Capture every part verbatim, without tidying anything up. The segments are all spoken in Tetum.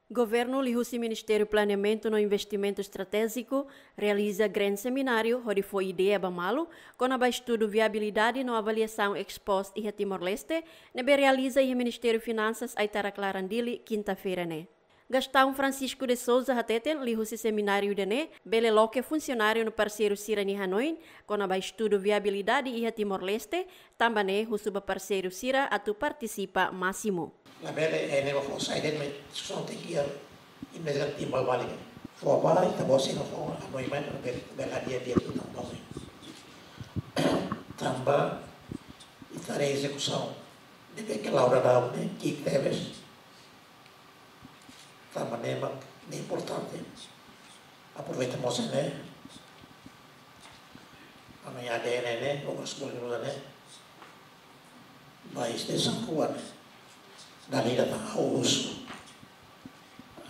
Governu liuhusi Ministériu Planeamentu no Investimentu Estratéjiku realiza grande semináriu hodi fó ideia ba malu kona-ba estudu viabilidade no avaliasaun ex post iha Timor-Leste, ne'ebé realiza iha Ministériu Finansas, Aitarak Laran, Dili, kinta-feira ne'e. Gastão Francisco de Sousa hateten, liuhusi semináriu ida-ne'e bele loke funsionáriu no parseiru sira-nia hanoin kona-ba estudu viabilidade iha Timor-Leste, tanba ne'e husu ba parseiru sira atu partisipa másimu. Labele, eh, ne'e ba fó sai de'it, maibé só tenke iha, i mesmo timbal balik. Fó ba, ita-boot sira fó hanoin mai, labele, labele hadi'a di'ak ita-boot. Tanba ita haree ezekusaun ne'ebé ke la'o daudaun ne'e ki'ik tebes. Tanba ne'e mak ne'e importante. Aproveita mós ne'e, ami A D N ne'e, Obras Públikas ne'e, ba instituisaun rua ne'e, dala ida tan ha'u husu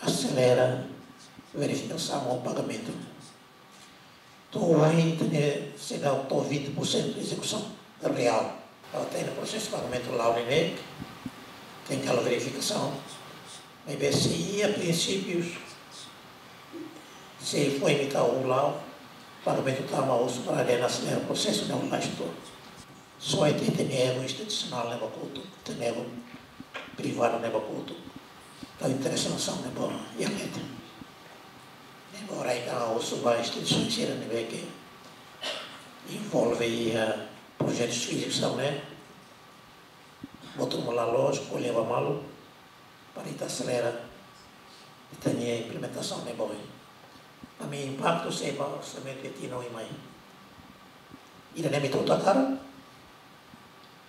aselera verifikasaun no pagamentu. To'o ohin ita-nia seidauk to'o vinte por cento ezekusaun reál. Entaun iha prosesu pagamentu la'o ne'e, tenke halo verifikasaun. Maibé se iha prinsípius, se foin ita uluk, pagamentu tama husu para A D N aselera prosesu ne'e uluk. Só ita-nia erru institusionál ne'e ba kotuk, ita-nia erru privadu ne'e ba kotuk. Entaun interese nasaun ne'e ba iha mete. Ne'e ba oras ita husu ba instituisaun sira ne'ebé ke envolve iha projetu fíziku sira ne'e, botu malu loos, ko'alia ba malu, para ita aselera ita-nia implementasaun ne'e ba oin. Ami impaktu sei ba orsamentu iha tinan oin mai. Ida-ne'e ami hotu hakarak,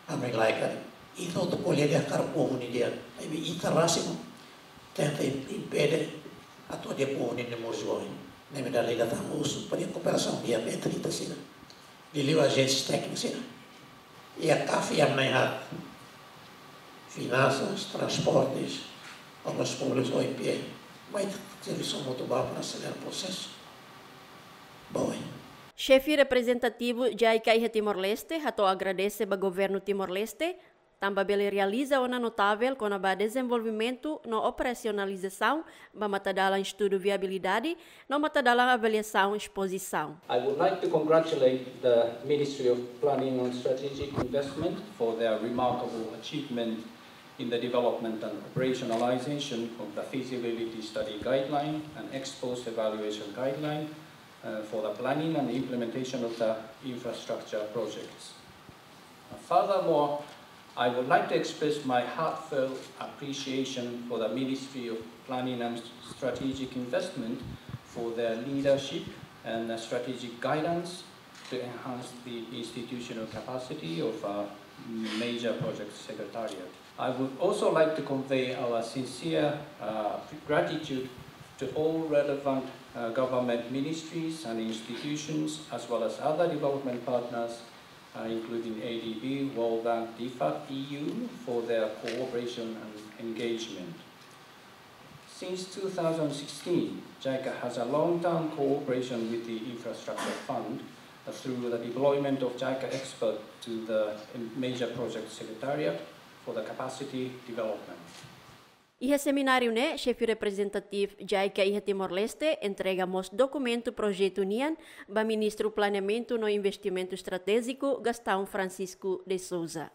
ami lae karik. Ita hotu ko'alia dehan hakarak povu nia di'ak. Maibé ita rasik tenta im-, impede atu hadi'a povu nia moris ba oin. Ne'e mak dala ida tan husu para kooperasaun di'ak entre ita sira. Liuliu ajénsia téknika sira. Iha CAF iha nai hat. Finansas, Transportes, Obras Públikas, O I P E. Mai servisu hamutuk ba para aselera prosesu ba oin. Xefe reprezentativu JICA iha Timor-Leste hato'o agradese ba Governu Timor-Leste, tanba bele realiza ona notavel kona-ba dezenvolvimentu no operasionalizasaun ba matadalan estudu viabilidade no matadalan avaliasaun ex post. I would like to congratulate the Ministry of Planning and Strategic Investment for their remarkable achievement in the development and operationalization of the feasibility study guideline and ex post evaluation guideline, uh, for the planning and implementation of the infrastructure projects. Furthermore, I would like to express my heartfelt appreciation for the Ministry of Planning and Strategic Investment for their leadership and strategic guidance to enhance the institutional capacity of a major project secretariat. I would also like to convey our sincere, uh, gratitude to all relevant, uh, government ministries and institutions, as well as other development partners, uh, including A D B, World Bank, DFAT, E U, for their cooperation and engagement. Since two thousand sixteen, JICA has a long-term cooperation with the Infrastructure Fund, uh, through the deployment of JICA expert to the Major Project Secretariat for the capacity development. Iha semináriu ne'e, xefe reprezentativu JICA iha Timor-Leste entrega mós dokumentu projetu nian ba Ministru Planeamentu no Investimentu Estratéjiku, Gastão Francisco de Sousa.